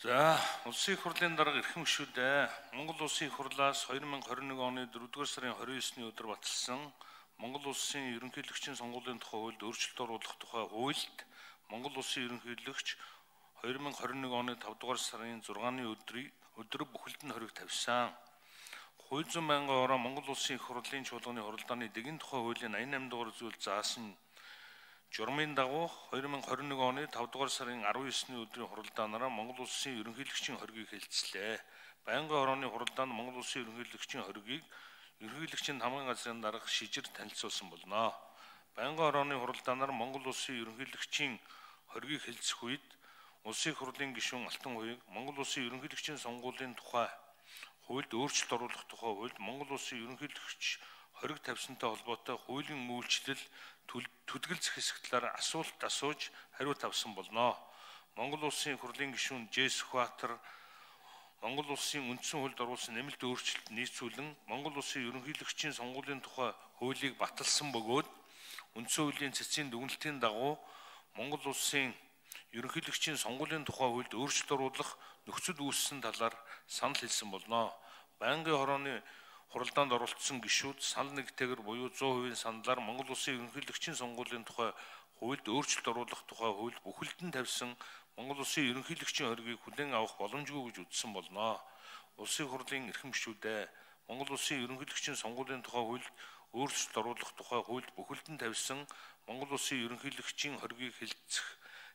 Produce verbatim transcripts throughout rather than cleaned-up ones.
За, улсын их хурлын дарга эрхэм гишүүдээ Монгол улсын их хурлаас two thousand twenty-one оны дөрөвдүгээр сарын twenty-ninth-ний өдөр баталсан Монгол улсын ерөнхийлөгчийн сонгуулийн тухай хуульд өөрчлөлт оруулах тухай хуульд Монгол улсын ерөнхийлөгч two thousand twenty-one оны five-р сарын six-ны өдрийг өдөр бүхэлд нь хориг тавьсан. Хууль зүйн байнгын ороо Монгол улсын их хурлын чуулганы хуралдааны дэгийн тухай хуулийн eighty-eight дугаар зүйл заасан журмын дагуу two thousand twenty-one оны five-р сарын nineteen-ний өдрийн хуралдаанаараа Монгол улсын ерөнхийлөгчийн хоригийг хэлцлээ. Байнгын орооны хуралдаанд Монгол улсын ерөнхийлөгчийн хоригийг ерөнхийлөгчийн хамгийн газрын дарга шижир танилцуулсан болно. Байнгын орооны хуралдаанаар Монгол улсын ерөнхийлөгчийн хоригийг хэлцэх үед улсын их хурлын гишүүн Алтан хуйг Монгол улсын ерөнхийлөгчийн сонгуулийн тухай хуульд өөрчлөлт оруулах тухай хуульд Монгол улсын ерөнхийлөгч хориг тавьсантай холбоотой хуулийн үйлчлэл төдгөл зэх талаар асуулт асууж хариулт авсан болно. Монгол улсын их хурлын гишүүн Жэс Хватер Монгол улсын үндсэн хуульд оруулсан нэмэлт өөрчлөлт нийцүүлэн Монгол улсын ерөнхийлөгчийн сонгуулийн тухай хуулийг баталсан бөгөөд үндсэн хуулийн цэцгийн дүгнэлтийн дагуу Монгол улсын ерөнхийлөгчийн сонгуулийн тухай хуульд өөрчлөлт оруулах нөхцөл үүссэн талаар санал хэлсэн болно. Байнгын хорооны хуралдаанд оролцсон гишүүд санал нэгтэйгээр буюу one hundred percent саналаар Монгол улсын ерөнхийлөгчийн сонгуулийн тухай хуульд өөрчлөлт оруулах тухай хууль бүхэлд нь тавьсан Монгол улсын ерөнхийлөгчийн хоригийг хүлээн авах боломжгүй гэж үзсэн болно. Улсын хурлын эрхэм гишүүдээ Монгол улсын ерөнхийлөгчийн сонгуулийн тухай хуульд өөрчлөлт оруулах тухай хуульд бүхэлд нь тавьсан Монгол улсын ерөнхийлөгчийн хоригийг хэлцэх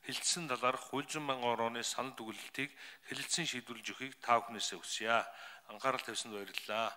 хэлцсэн талаарх хууль зүйн байнгын орооны санал дүгнэлтийг хэлэлцэн шийдвэрлэж өгөхийг та бүхнээсээ хүсье. Анхаарал тавьсанд баярлалаа.